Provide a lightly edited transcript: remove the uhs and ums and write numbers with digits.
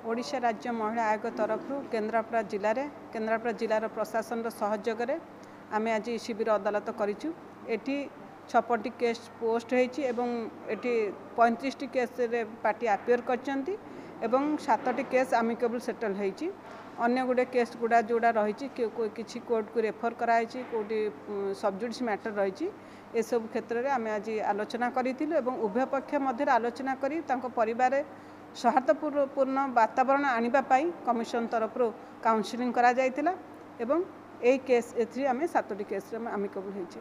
ଓଡ଼ିଶା ରାଜ୍ୟ ମହିଳା ଆୟୋଗ ତରଫରୁ କେନ୍ଦ୍ରାପଡ଼ା ଜିଲ୍ଲାରେ, କେନ୍ଦ୍ରାପଡ଼ା ଜିଲ୍ଲାର ପ୍ରଶାସନର ସହଯୋଗରେ ଆମେ ଆଜି ଶିବିର ଅଦାଲତ କରିଛୁ। ଏଠି 56ଟି କେସ୍ ପୋଷ୍ଟ ହେଇଛି ଏବଂ ଏଠି 35ଟି କେସ୍ରେ ପାର୍ଟି ଆପିୟର କରିଛନ୍ତି ଏବଂ 7ଟି କେସ୍ ଆମିକେବଲ୍ ସେଟଲ୍ ହେଇଛି। ଅନ୍ୟ ଗୁଡ଼ିଏ କେସ୍ ଗୁଡ଼ା ଯେଉଁଟା ରହିଛି, କିଛି କୋର୍ଟକୁ ରେଫର୍ କରାହେଇଛି, କେଉଁଠି ସବଜୁଡ଼ିସ୍ ମ୍ୟାଟର୍ ରହିଛି। ଏସବୁ କ୍ଷେତ୍ରରେ ଆମେ ଆଜି ଆଲୋଚନା କରିଥିଲୁ ଏବଂ ଉଭୟ ପକ୍ଷ ମଧ୍ୟରେ ଆଲୋଚନା କରି ତାଙ୍କ ପରିବାରରେ ସୌହାର୍ଦ୍ଦ୍ୟପୂର୍ଣ୍ଣ ବାତାବରଣ ଆଣିବା ପାଇଁ କମିଶନ ତରଫରୁ କାଉନସିଲିଂ କରାଯାଇଥିଲା ଏବଂ ଏଇ କେସ୍ ଏଥିରେ ଆମେ 7ଟି କେସ୍ରେ ଆମେ ଆମିକେବଲ୍ ହେଇଛେ।